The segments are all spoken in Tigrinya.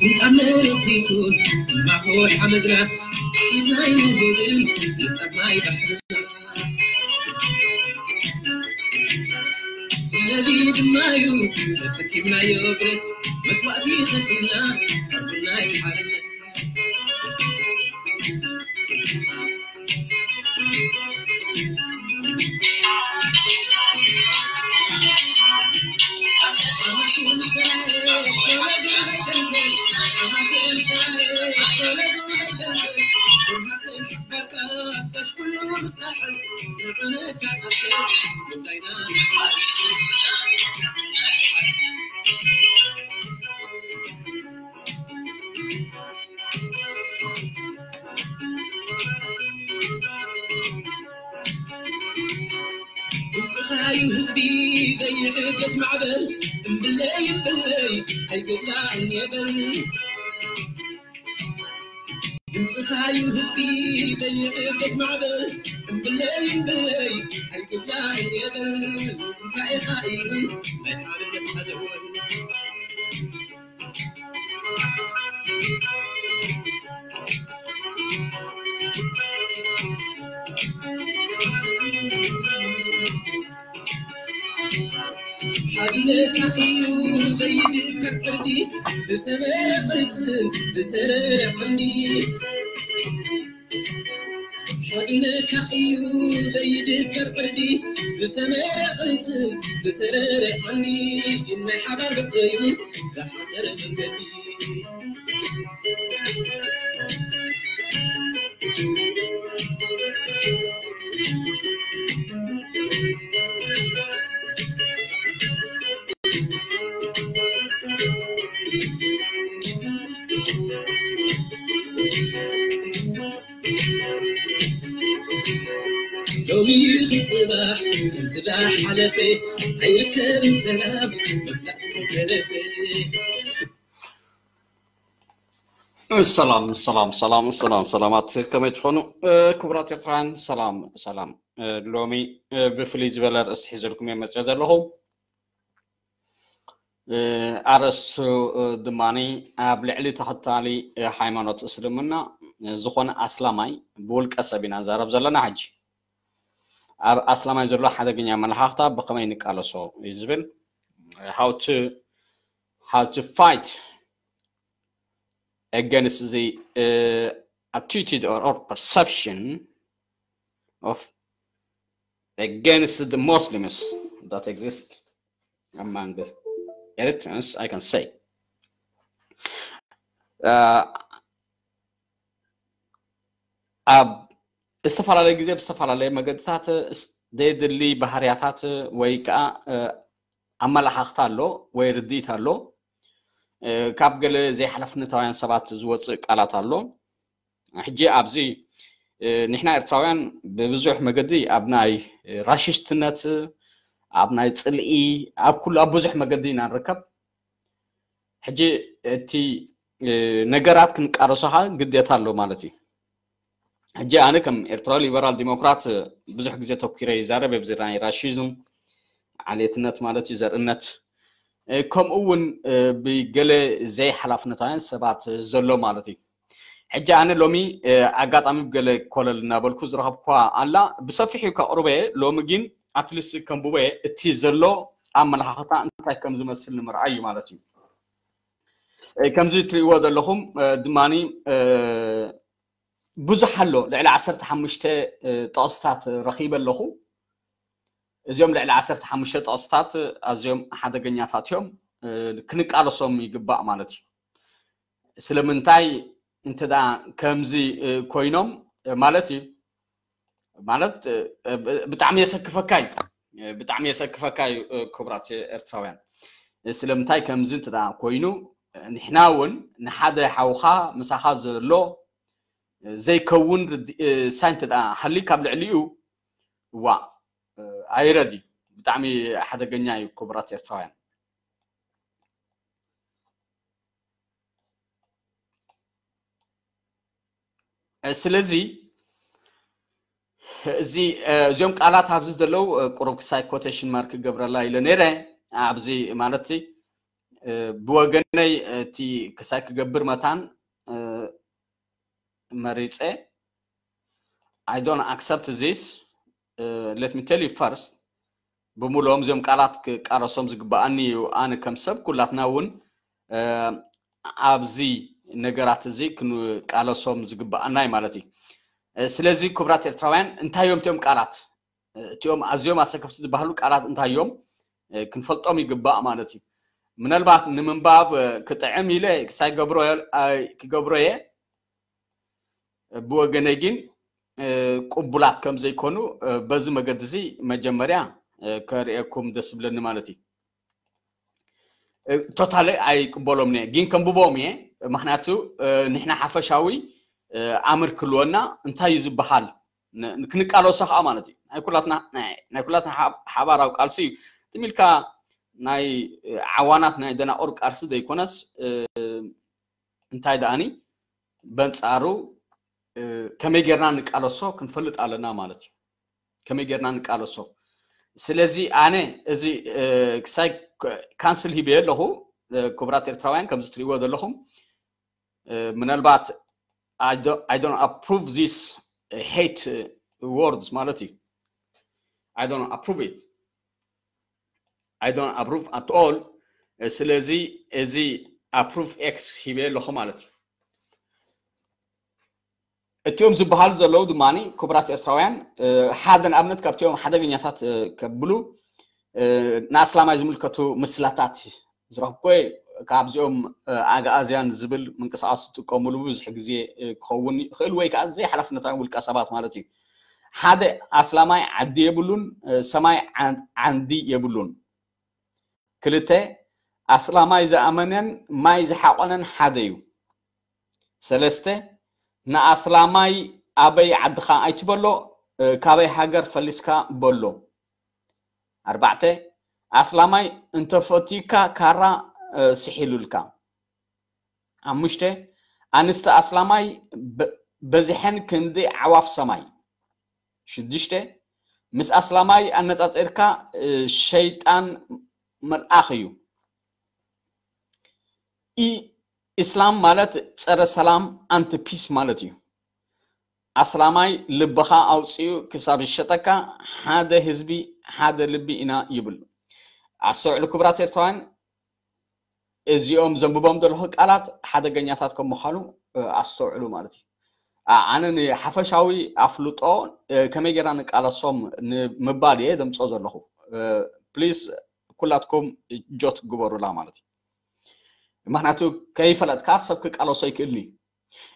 ምንጣፍ መሬት ይኹን እምባኾ ሓመድና፣ ኢድና ይንህብን ምንጣፍ ማይ ባሕርና። ነዚ ድማ እዩ ተሰኪምናዮ ብረት፣ መስዋእቲ ከፊልና ሓርብና እዩ ሓርነት። ድምፅኻዩ ህዝቢ ዘይዕገት ማዕበል፣ እምብለይ እምብለይ ኣይግባእን የበል። ድምፅኻዩ ህዝቢ ዘይዕገት ማዕበል፣ እምብለይ እምብለይ ኣይግባእን የበል። እንታይ ኢኻ እዩ ናይ ሓርነት ኣደወል? ሓድነትካ እዩ ዘይድፈር ዕርዲ፣ ብተመረቐ ጽም ብተረረ ዓንዲ። ሓድነትካ እዩ ዘይድፈር ዕርዲ፣ ብተመረቐ ጽም ብተረረ ዓንዲ። ግን ናይ ሓባር ብዕዩ ብሓደር መንገዲ። ሎሚ ይኹን ጽባሕ፣ ክንድዛ ሓለፈ፣ ኣይርከብን ሰላም፣ መብዛሕትኡ ተረፈ። ሰላም፣ ሰላም፣ ሰላም፣ ሰላም፣ ሰላማት ከመይ ትኾኑ? እ፣ ክቡራት ኤርትራውያን፣ ሰላም፣ ሰላም። እ፣ ሎሚ፣ እ፣ ብፍልይ ዝበለ ርእሲ ሒዘልኩም እየ መጽእ ዘለኹ። እ፣ ኣርእስቱ፣ እ፣ ድማኒ ኣብ ልዕሊ ተኸታሊ፣ እ፣ ሃይማኖት እስልምና፣ እ፣ ዝኾነ ኣስላማይ ብውልቀ ሰብ ኢና ንዛረብ ዘለና ሕጂ። ኣብ ኣስላማይ ዘሎ ሓደገኛ ኣመለኻኽታ ብኸመይ ንቃለሶ እዩ ዝብል። How to, how to fight against the, uh, attitude or, or perception of, against the Muslims that exist among Eritreans, I can say. Uh, ኣብ ዝተፈላለየ ግዜ ብዝተፈላለየ መገድታት ስ-፣ ዘይድሊ ባህርያታት ወይ ከዓ፣ እ፣ ኣመለኻኽታ ኣሎ ወይ ርድኢት ኣሎ። እ፣ ካብ ገለ ዘይሓላፍነታውያን ሰባት ዝወፅእ ቃላት ኣሎ። ሕጂ ኣብዚ፣ እ፣ ንሕና ኤርትራውያን ብብዙሕ መገዲ ኣብ ናይ ራሽስትነት፣ ኣብ ናይ ፅልኢ፣ ኣብ ኩሉ፣ ኣብ ብዙሕ መገዲ ኢና ንርከብ። ሕጂ እቲ፣ እ፣ ነገራት ክንቃረሶ ከዓ ግዴታ ኣሎ ማለት እዩ። ሕጂ ኣነ ከም ኤርትራዊ ሊበራል ዲሞክራት፣ እ፣ ብዙሕ ግዜ ተኪረ ይዛረብ ኣብዚ ናይ ራሽዝም፣ ዓሌትነት ማለት እዩ፣ ዘርእነት፣ እ፣ ከምኡ እውን፣ እ፣ ብገለ ዘይሓላፍነታውያን ሰባት ዘሎ ማለት እዩ። ሕጂ ኣነ ሎሚ፣ እ፣ ኣጋጣሚ ብገለ ኮለል እናበልኩ ዝረኸብኳ ኣላ፣ ብሰፊሑ ከቕርበ እየ። ሎሚ ግን ኣትሊስት ከንብቦ እየ፣ እቲ ዘሎ ኣመለኻኽታ እንታይ ከም ዝመስል ንምርኣይ እዩ ማለት እዩ። እ፣ ከምዚ እትርእይዎ ዘለኹም፣ እ፣ ድማኒ፣ እ፣ ብዙሕ ኣሎ፣ ልዕሊ ዓሰርተ ሓሙሽተ፣ እ፣ ጥቕስታት ረኺበ ኣለኹ። እዚኦም ልዕሊ ዓሰርተ ሓሙሽተ ጥቕስታት ኣዝዮም ሓደገኛታት እዮም፣ እ፣ ክንቃለሶም ይግባእ ማለት እዩ። ስለምንታይ እንተ ደኣ ከምዚ፣ እ፣ ኮይኖም፣ እ፣ ማለት እዩ፣ ማለት፣ እ፣ ብ-፣ ብጣዕሚ የሰክፈካ እዩ፣ እ፣ ብጣዕሚ የሰክፈካ እዩ፣ እ፣ ክቡራት ኤርትራውያን። እ፣ ስለምንታይ ከምዚ እንተ ደኣ ኮይኑ፣ እ፣ ንሕና እውን ንሓደ ሓውኻ ምሳኻ ዘሎ፣ እ፣ ዘይከውን ርድ-፣ እ፣ ሳይ እንተ ደኣ ሃልዩ ካብ ልዕሊኡ ዋ ኣይረድ እዩ። ብጣዕሚ ሓደገኛ እዩ ክቡራት ኤርትራውያን። ስለዚ እዚ እዚኦም ቃላት ኣብዚ ዘለዉ ቁሩብ ክሳይ ኮቴሽን ማርክ ክገብረላ ኢለ ነይረ። ኣብዚ ማለት ብወገነይ እቲ ክሳይ ክገብር መታን መሪፀ I don't accept this. Let me tell you first. ብምሉኦም እዚኦም ቃላት ክቃለሶም ዝግበኣኒ እዩ። ኣነ ከም ሰብ ኩላትና እውን ኣብዚ ነገራት እዚ ክንቃለሶም ዝግበኣና እዩ ማለት እዩ። ስለዚ ክቡራት ኤርትራውያን እንታይ እዮም እቲኦም ቃላት? እቲኦም ኣዝዮም ኣሰከፍቲ ዝበሃሉ ቃላት እንታይ እዮም? ክንፈልጦም ይግባእ ማለት እዩ። ምናልባት ንምንባብ ክጥዕም ኢለ ክሳይ ክገብሮ እየ። ብወገነይ ግን ቅቡላት ከም ዘይኮኑ በዚ መገዲ እዚ መጀመርያ ከርእየኩም ደስ ዝብለኒ ማለት እዩ። ቶታሊ ኣይቅበሎም እየ፣ ግን ከንብቦም እየ። ምክንያቱ ንሕና ሓፈሻዊ ኣምር ክልወና እንታይ እዩ ዝበሃል ክንቃለሶ ከዓ ማለት እዩ። ናይ ኩላትና ሓባራዊ ቃልሲ እዩ። ትም ኢልካ ናይ ዓዋናት ናይ ደናቁር ቃልሲ ዘይኮነስ እንታይ ደኣኒ በንጻሩ ከመይ ጌርና ንቃለሶ ክንፈልጥ ኣለና ማለት እዩ። ከመይ ጌርና ንቃለሶ? ስለዚ ኣነ እዚ ክሳይ ካንስል ሂበ ኣለኹ። ክቡራት ኤርትራውያን ከምዚ ትርእይዎ ዘለኹም ምናልባት I don't approve this hate words ማለት እዩ። I don't approve it. I don't approve at all. ስለዚ እዚ approve X ሂበ ኣለኹ ማለት እዩ። እቲኦም ዝበሃሉ ዘለዉ ድማ ክቡራት ኤርትራውያን ሓደ ንኣብነት ካብቲኦም ሓደገኛታት ከብሉ ንኣስላማይ ዝምልከቱ ምስላታት ዝረኽብኩ ካብዚኦም ኣግኣዝያን ዝብል ምንቅስቃስ ዝጥቀምሉ ብዙሕ ግዜ ክኸውን ይኽእል ወይ ከዓ ዘይሓላፍነታዊ ውልቀ ሰባት ማለት እዩ። ሓደ ኣስላማይ ዓዲ የብሉን፣ ሰማይ ዓንዲ የብሉን። ክልተ ኣስላማይ ዝኣመነን ማይ ዝሓቆነን ሓደ እዩ። ሰለስተ ንኣስላማይ ኣበይ ዓድኻ ኣይትበሎ፣ ካበይ ሃገር ፈሊስካ በሎ። ኣርባዕተ ኣስላማይ እንተፈትዩካ ካራ ስሒሉልካ። ሓሙሽተ ኣንስቲ ኣስላማይ በዚሐን ክንዲ ዓዋፍ ሰማይ። ሽዱሽተ ምስ ኣስላማይ ኣነጻጺርካ ሸይጣን መልኣኽ እዩ። ኢስላም ማለት ጸረ ሰላም ኣንቲ ፒስ ማለት እዩ። ኣስላማይ ልብኻ ኣውፅኡ ክሳብ ዝሸጠካ ሓደ ህዝቢ ሓደ ልቢ ኢና ይብል። ኣስተውዕሉ ክቡራት ኤርትራውያን፣ እዚኦም ዘንብቦም ዘለኹ ቃላት ሓደገኛታት ከም ምዃኑ ኣስተውዕሉ ማለት እዩ። ኣነ ንሓፈሻዊ ኣፍልጦ ከመይ ጌርና ንቃለሶም ንምባል እየ ዘምፅኦ ዘለኹ። ፕሊስ ኩላትኩም ጆት ግበሩላ ማለት እዩ። ምክንያቱ ከይፈለጥካ ሰብ ክቃለሶ ይክእልኒ።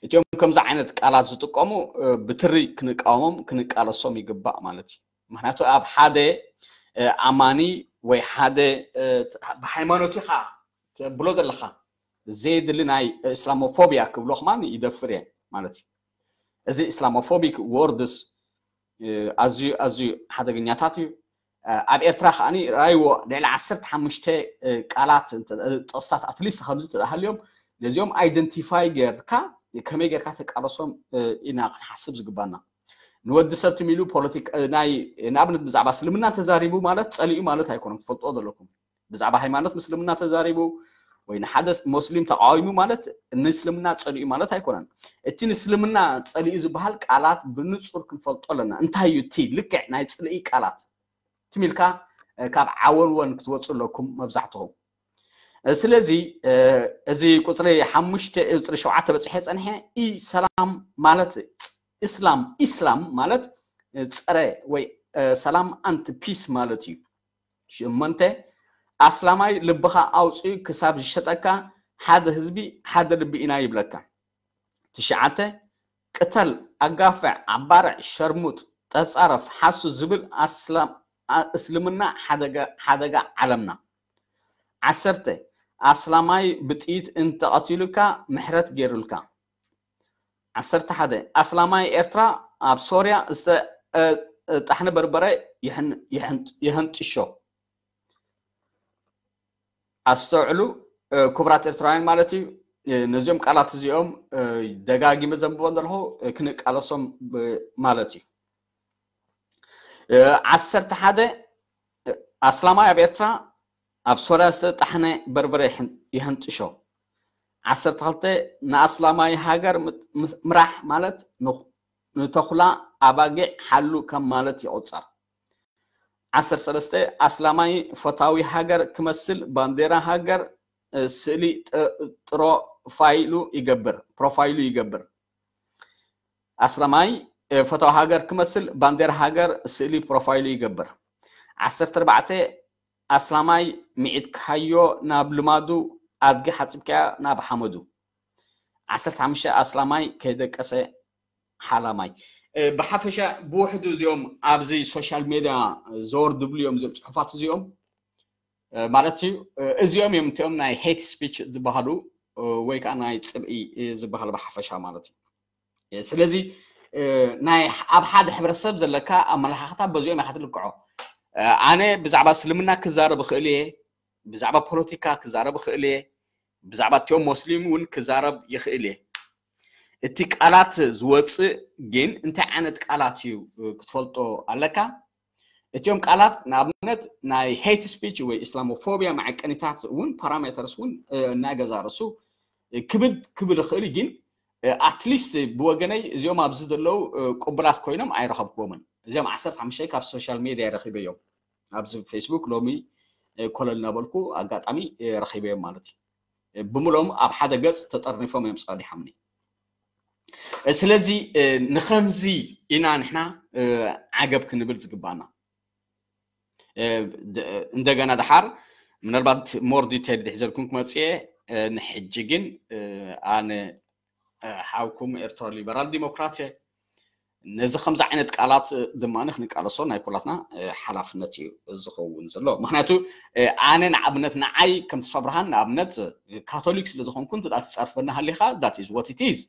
እቲኦም ከምዚ ዓይነት ቃላት ዝጥቀሙ ብትሪ ክንቃወሞም ክንቃለሶም ይግባእ ማለት እዩ። ምክንያቱ ኣብ ሓደ ኣማኒ ወይ ሓደ ብሃይማኖት ኢኻ ተብሎ ዘለኻ ዘየድሊ ናይ እስላሞፎቢያ ክብሎ ከማን ይደፍር እየ ማለት እዩ። እዚ እስላሞፎቢክ ወርድስ ኣዝዩ ኣዝዩ ሓደገኛታት እዩ። ኣብ ኤርትራ ከዓኒ ራይዎ ልዕሊ ዓሰርተ ሓሙሽተ ቃላት ጥቕስታት ኣትሊስት ከምዚ ተሃልዮም ነዚኦም ኣይደንቲፋይ ጌርካ ከመይ ጌርካ ተቃለሶም ኢና ክንሓስብ ዝግባና። ንወዲ ሰብ ትሚሉ ፖለቲካ ናይ ንኣብነት ብዛዕባ እስልምና ተዛሪቡ ማለት ጸሊኡ ማለት ኣይኮነን። ትፈልጥዎ ዘለኩም ብዛዕባ ሃይማኖት ምስልምና ተዛሪቡ ወይ ንሓደ ሞስሊም ተቃዊሙ ማለት ንእስልምና ጸሊኡ ማለት ኣይኮነን። እቲ ንእስልምና ጸሊኡ ዝበሃል ቃላት ብንጹር ክንፈልጦ ኣለና። እንታይ እዩ እቲ ልክዕ ናይ ጽልኢ ቃላት? ትም ኢልካ ካብ ዓወንወን ክትወፁ ኣለኩም መብዛሕትኹም። ስለዚ እዚ ቁፅሪ ሓሙሽተ ቁፅሪ ሸውዓተ በፂሐ ፀንሐ ኢሰላም ማለት እስላም ኢስላም ማለት ፀረ ወይ ሰላም ኣንቲ ፒስ ማለት እዩ። ሽመንተ ኣስላማይ ልብኻ ኣውፅኡ ክሳብ ዝሸጠካ ሓደ ህዝቢ ሓደ ልቢ ኢና ይብለካ። ትሽዓተ ቅተል ኣጋፍዕ ኣባርዕ ሸርሙጥ ተፃረፍ ሓሱ ዝብል እስልምና ሓደጋ ዓለምና። ዓሰርተ ኣስላማይ ብጥይት እንተቐቲሉካ ምሕረት ገይሩልካ። ዓሰርተ ሓደ ኣስላማይ ኤርትራ ኣብ ሶርያ ጣሕኒ በርበረ ይሕንጥሾ። ኣስተውዕሉ ክቡራት ኤርትራውያን ማለት እዩ። ነዚኦም ቃላት እዚኦም ደጋጊመ ዘንብቦ ዘለኹ ክንቃለሶም ማለት እዩ። ዓሰርተ ሓደ ኣስላማይ ኣብ ኤርትራ ኣብ ሶርያ ዝተጣሕነ በርበረ ይሕንጥሾ። ዓሰርተ ክልተ ንኣስላማይ ሃገር ምራሕ ማለት ንተኹላ ኣባጊዕ ሓሉ ከም ማለት ይቑጸር። ዓሰርተ ሰለስተ ኣስላማይ ፈታዊ ሃገር ክመስል ባንዴራ ሃገር ስእሊ ጥሮ ፋይሉ ይገብር ፕሮፋይሉ ይገብር። ኣስላማይ ፈታዊ ሃገር ክመስል ባንዴራ ሃገር ስእሊ ፕሮፋይሉ ይገብር። ዓሰርተ ኣርባዕተ ኣስላማይ ሚዒጥካዮ ናብ ልማዱ ኣድጊ ሓፂብካያ ናብ ሓመዱ። ዓሰርተ ሓሙሽተ ኣስላማይ ከይደቀሰ ሓላማይ። ብሓፈሻ ብውሕዱ እዚኦም ኣብዚ ሶሻል ሜድያ ዘወር ድብሉ እዮም እዚኦም ፅሑፋት እዚኦም ማለት እዩ። እዚኦም እዮም እቲኦም ናይ ሄት ስፒች ዝበሃሉ ወይ ከዓ ናይ ፅብኢ ዝበሃል ብሓፈሻ ማለት እዩ። ስለዚ ናይ ኣብ ሓደ ሕብረተሰብ ዘለካ ኣመለኻኽታ በዚኦም ኢኻ ትልክዖ። ኣነ ብዛዕባ እስልምና ክዛረብ እኽእል እየ፣ ብዛዕባ ፖለቲካ ክዛረብ እኽእል እየ፣ ብዛዕባ እቲኦም ሞስሊም እውን ክዛረብ ይኽእል እየ። እቲ ቃላት ዝወፅእ ግን እንታይ ዓይነት ቃላት እዩ ክትፈልጦ ኣለካ። እቲኦም ቃላት ንኣብነት ናይ ሄት ስፒች ወይ ኢስላሞፎቢያ መዐቀኒታት እውን ፓራሜተርስ እውን እናገዛርሱ ክብድ ክብል ይኽእል፣ ግን ኣትሊስት ብወገነይ እዚኦም ኣብዚ ዘለዉ ቅቡላት ኮይኖም ኣይረኸብክዎምን። እዚኦም ዓሰርተ ሓሙሽተ ካብ ሶሻል ሜድያ ረኺበዮም፣ ኣብዚ ፌስቡክ ሎሚ ኮለል እናበልኩ ኣጋጣሚ ረኺበዮም ማለት እዩ። ብምሎም ኣብ ሓደ ገፅ ተጠርኒፎም እዮም ፀኒሖምኒ። ስለዚ ንኸምዚ ኢና ንሕና ዓገብ ክንብል ዝግባና። እንደገና ደሓር ምናልባት ሞር ዲቴል ድሕዘልኩም ክመፅየ። ንሕጂ ግን ኣነ ሓውኩም ኤርትራ ሊበራል ዲሞክራት እየ። ነዚ ከምዚ ዓይነት ቃላት ድማ ክንቃለሶ ናይ ኩላትና ሓላፍነት እዩ ዝኸውን ዘሎ። ምክንያቱ ኣነ ንኣብነት ንዓይ ከም ተስፋ ብርሃን ንኣብነት ካቶሊክ ስለ ዝኾንኩ እንተ ትፀርፈኒ ሃሊኻ that is what it is።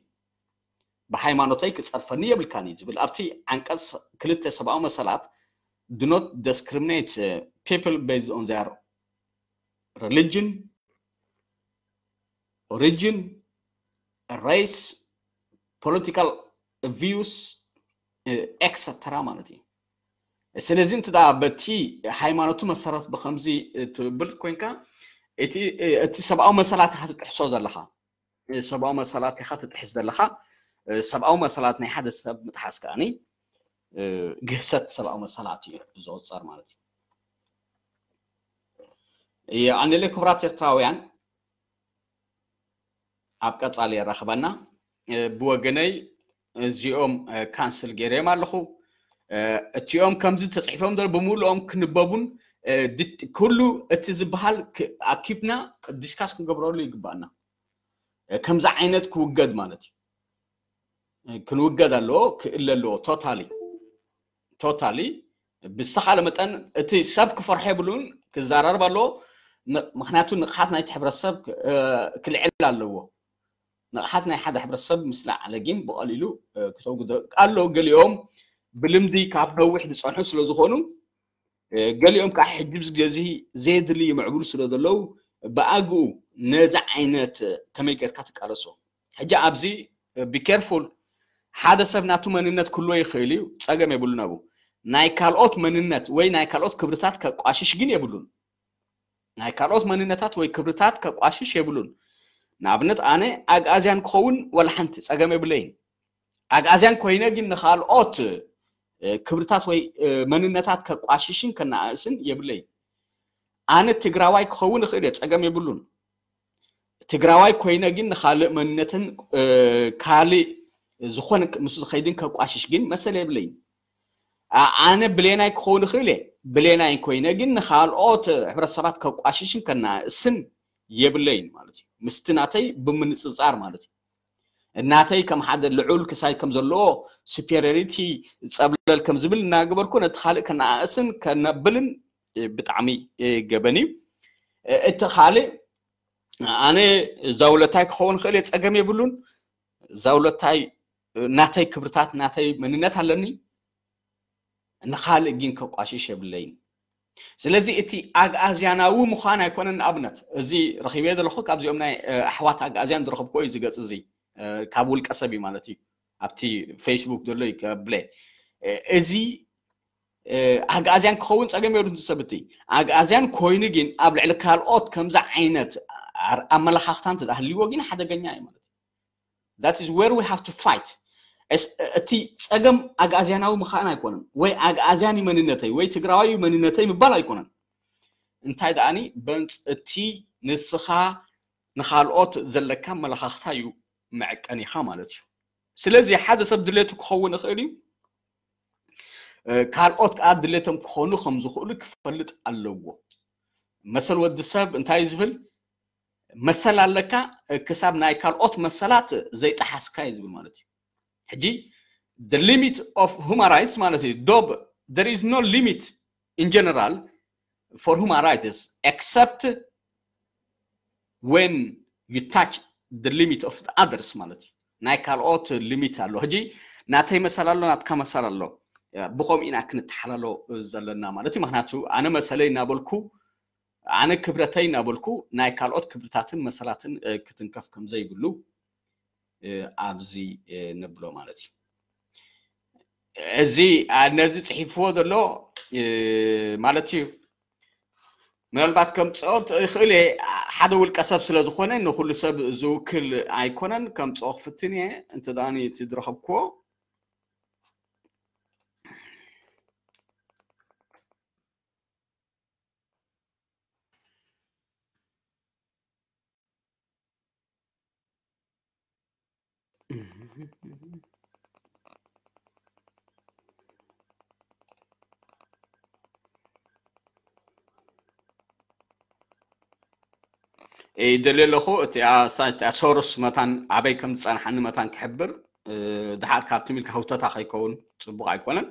ብሃይማኖተይ ክፀርፈኒ የብልካን እዩ ዝብል ኣብቲ ዓንቀፅ ክልተ ሰብኣዊ መሰላት do not discriminate people based on their religion, origin, race, political views, ኤክሰተራ ማለት እዩ። ስለዚ እንተ በቲ ሃይማኖቱ መሰረት ብከምዚ ትብል ኮይንካ እቲ ሰብኣዊ መሰላት ኢኻ ትጥሕሶ ዘለኻ። ሰብኣዊ መሰላት ኢኻ ትጥሕስ ዘለኻ። ሰብኣዊ መሰላት ናይ ሓደ ሰብ ምጥሓስ ከኣኒ ግህሰት ሰብኣዊ መሰላት እዩ ዝቑፀር ማለት እዩ። የቐንየለይ ክቡራት ኤርትራውያን፣ ኣብ ቀፃሊ የራኽበና። ብወገነይ እዚኦም ካንስል ገይረዮም ኣለኹ። እቲኦም ከምዚ ተፅሒፎም ዘሎ ብምሉኦም ክንበቡን ኩሉ እቲ ዝበሃል ኣኪብና ዲስካስ ክንገብረሉ ይግባኣና። ከምዚ ዓይነት ክውገድ ማለት እዩ። ክንውገድ ኣለዎ፣ ክእለ ኣለዎ። ቶታሊ ቶታሊ ብዝተኻለ መጠን እቲ ሰብ ክፈርሖ የብሉን፣ ክዘራረብ ኣለዎ። ምክንያቱ ንቕሓት ናይቲ ሕብረተሰብ ክልዕል ኣለዎ። ንቕሓት ናይ ሓደ ሕብረተሰብ ምስ ለዓለ ግን ብቐሊሉ ክተውግዶ ኣለዉ። ገሊኦም ብልምዲ ካብ ነዊሕ ዝፀንሑ ስለ ዝኾኑ ገሊኦም ከዓ ሕጂ ብዚ ግዜ እዚ ዘየድሊ ይምዕብሉ ስለ ዘለዉ ብኣግኡ ነዚ ዓይነት ከመይ ጌርካ ትቃለሶ? ሕጂ ኣብዚ ቢኬርፉል፣ ሓደ ሰብ ናቱ መንነት ክህልዎ ይኽእል እዩ፣ ፀገም የብሉን። ኣብኡ ናይ ካልኦት መንነት ወይ ናይ ካልኦት ክብርታት ከቋሽሽ ግን የብሉን። ናይ ካልኦት መንነታት ወይ ክብርታት ከቋሽሽ የብሉን። ንኣብነት ኣነ ኣግኣዝያን ክኸውን ዋላ ሓንቲ ፀገም የብለይን። ኣግኣዝያን ኮይነ ግን ንኻልኦት ክብርታት ወይ መንነታት ከቋሽሽን ከነኣእስን የብለይን። ኣነ ትግራዋይ ክኸውን እኽእል እየ፣ ፀገም የብሉን። ትግራዋይ ኮይነ ግን ንኻልእ መንነትን ካልእ ዝኾነ ምስ ዝኸይድን ከቋሽሽ ግን መሰል የብለይን። ኣነ ብሌናይ ክኸውን እኽእል እየ፣ ብሌናይ ኮይነ ግን ንኻልኦት ሕብረተሰባት ከቋሽሽን ከነኣእስን የብለይን ማለት እዩ። ምስቲ ናተይ ብምንፅፃር ማለት እዩ። እናተይ ከም ሓደ ልዑል ክሳይ ከም ዘለዎ ሱፔሪዮሪቲ ጸብለል ከም ዝብል እናገበርኩ ነቲ ካልእ ከነኣእስን ከነብልን ብጣዕሚ ገበን እዩ። እቲ ካልእ ኣነ ዛውለታይ ክኸውን ክእል እየ፣ ጸገም የብሉን። ዛውለታይ ናተይ ክብርታት ናተይ መንነት ኣለኒ። ንኻልእ ግን ከቋሽሽ የብለይን። ስለዚ እቲ ኣግኣዝያናዊ ምዃን ኣይኮነን። ንኣብነት እዚ ረኺበ ዘለኹ ካብዚኦም ናይ ኣሕዋት ኣግኣዝያን ዝረኸብኩ እዩ ዝገጽ እዚ ካብ ውልቀ ሰብ እዩ ማለት እዩ። ኣብቲ ፌስቡክ ዘሎ ይከብለ እዚ ኣግኣዝያን ክኸውን ጸገም የብሉን። ሰብቲ ኣግኣዝያን ኮይኑ ግን ኣብ ልዕሊ ካልኦት ከምዚ ዓይነት ኣመለኻኽታ እንተሃልይዎ ግን ሓደገኛ እዩ ማለት እዩ። That is where we have to fight። እቲ ጸገም ኣግኣዝያናዊ ምዃን ኣይኮነን ወይ ኣግኣዝያን መንነተይ ወይ ትግራዋይ መንነተይ ምባል ኣይኮነን። እንታይ ደኣኒ በንጽ እቲ ንስኻ ንኻልኦት ዘለካ ኣመለኻኽታ እዩ መዐቀኒኻ ማለት እዩ። ስለዚ ሓደ ሰብ ድሌቱ ክኸውን ይኽእል እዩ። ካልኦት ከዓ ድሌቶም ክኾኑ ከም ዝኽእሉ ክፈልጥ ኣለዎ። መሰል ወዲ ሰብ እንታይ ዝብል መሰል ኣለካ ክሳብ ናይ ካልኦት መሰላት ዘይጠሓስካ እዩ ዝብል ማለት እዩ። ሕጂ the limit of human rights ማለት እዩ ዶብ there is no limit in general for human rights except when you touch the limit of the others ማለት እዩ። ናይ ካልኦት limit ኣሎ። ሕጂ ናተይ መሰል ኣሎ፣ ናትካ መሰል ኣሎ። ብኸምኡ ኢና ክንተሓላሎ ዘለና ማለት እዩ። ምክንያቱ ኣነ መሰለይ እናበልኩ ኣነ ክብረተይ እናበልኩ ናይ ካልኦት ክብርታትን መሰላትን ክትንከፍ ከም ዘይብሉ ኣብዚ ንብሎ ማለት እዩ። እዚ ነዚ ጽሒፍዎ ዘሎ ማለት እዩ። ምናልባት ከምፅኦ ይኽእል እየ። ሓደ ውልቀ ሰብ ስለ ዝኾነ ንኩሉ ሰብ ዝውክል ኣይኮነን። ከምፅኦ ክፍትን እየ። እንተ ደኣ እቲ ዝረኸብክዎ ይደልየ ኣለኹ። እቲኣ ሳይት እቲኣ ሶርስ መታን ኣበይ ከም ዝጸንሓኒ መታን ክሕብር፣ ድሓር ካብ ትም ኢልካ ህውተታ ከይከውን ጽቡቕ ኣይኮነን።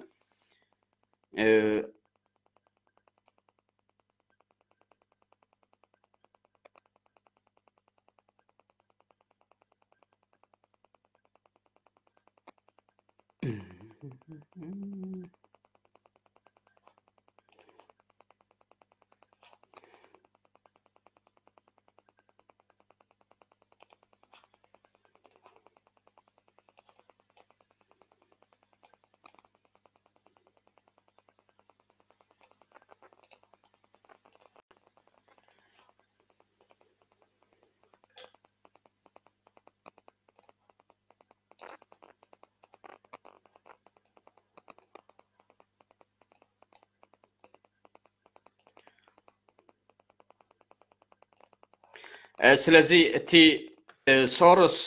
ስለዚ እቲ ሶርስ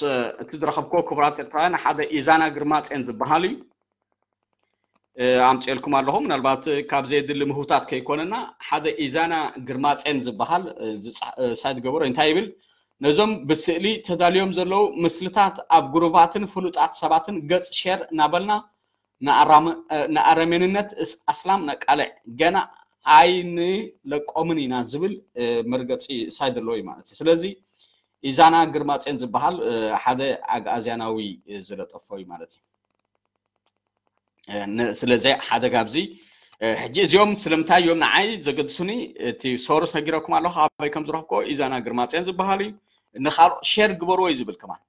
እቲ ዝረኸብክዎ ክቡራት ኤርትራውያን ሓደ ኢዛና ግርማጼን ዝበሃል እዩ። ኣምፅኤልኩም ኣለኹ። ምናልባት ካብ ዘየድሊ ምህውታት ከይኮነና ሓደ ኢዛና ግርማጼን ዝበሃል ሳይት ገበሮ እንታይ ይብል? ነዞም ብስእሊ ተዳልዮም ዘለዉ ምስልታት ኣብ ግሩባትን ፍሉጣት ሰባትን ገጽ ሼር እናበልና ንኣረሜንነት ኣስላም ነቃልዕ፣ ገና ኣይንለቆምን ኢና ዝብል መርገፂ ሳይት ኣለዎ እዩ ማለት እዩ። ስለዚ ኢዛና ግርማጼን ዝበሃል ሓደ ኣግኣዝያናዊ ዝለጠፎ እዩ ማለት እዩ። ስለዚ ሓደ ካብዚ ሕጂ እዚኦም ስለምንታይ እዮም ንዓይ ዘገድሱኒ? እቲ ሶርስ ነጊረኩም ኣለኹ ኣበይ ከም ዝረኽብኮ። ኢዛና ግርማጽዮን ዝበሃል እዩ። ንኻልኦ ሼር ግበርዎ እዩ ዝብል ከማን።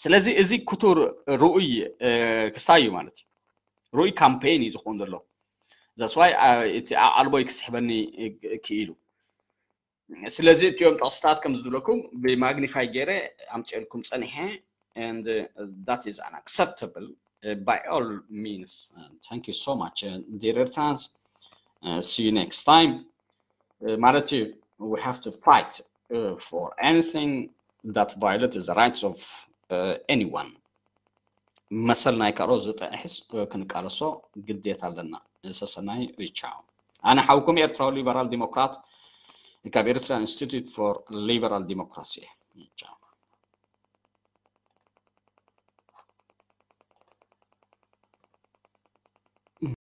ስለዚ እዚ ክቱር ርኡይ ክስታይ እዩ ማለት እዩ። ርኡይ ካምፔን እዩ ዝኸውን ዘሎ። That's why እቲ ኣቓልቦይ ክስሕበኒ ክኢሉ። ስለዚ እቲኦም ጥቕስታት ከም ዝብለኩም ብማግኒፋይ ገይረ ኣምፅኤልኩም ፀኒሐ and that is unacceptable by all means. Thank you so much, dear Eritreans. See you next time. ማለት እዩ, we have to fight for anything that violates the rights of anyone. መሰል ናይ ካልኦት ዝጥሕስ ክንቃለሶ ግዴታ ኣለና። ሰሰናይ ቻው። ኣነ ሓውኩም ኤርትራዊ ሊበራል ዲሞክራት ካብ ኤርትራ ኢንስቲትዩት ፎር ሊበራል ዲሞክራሲ። ቻው።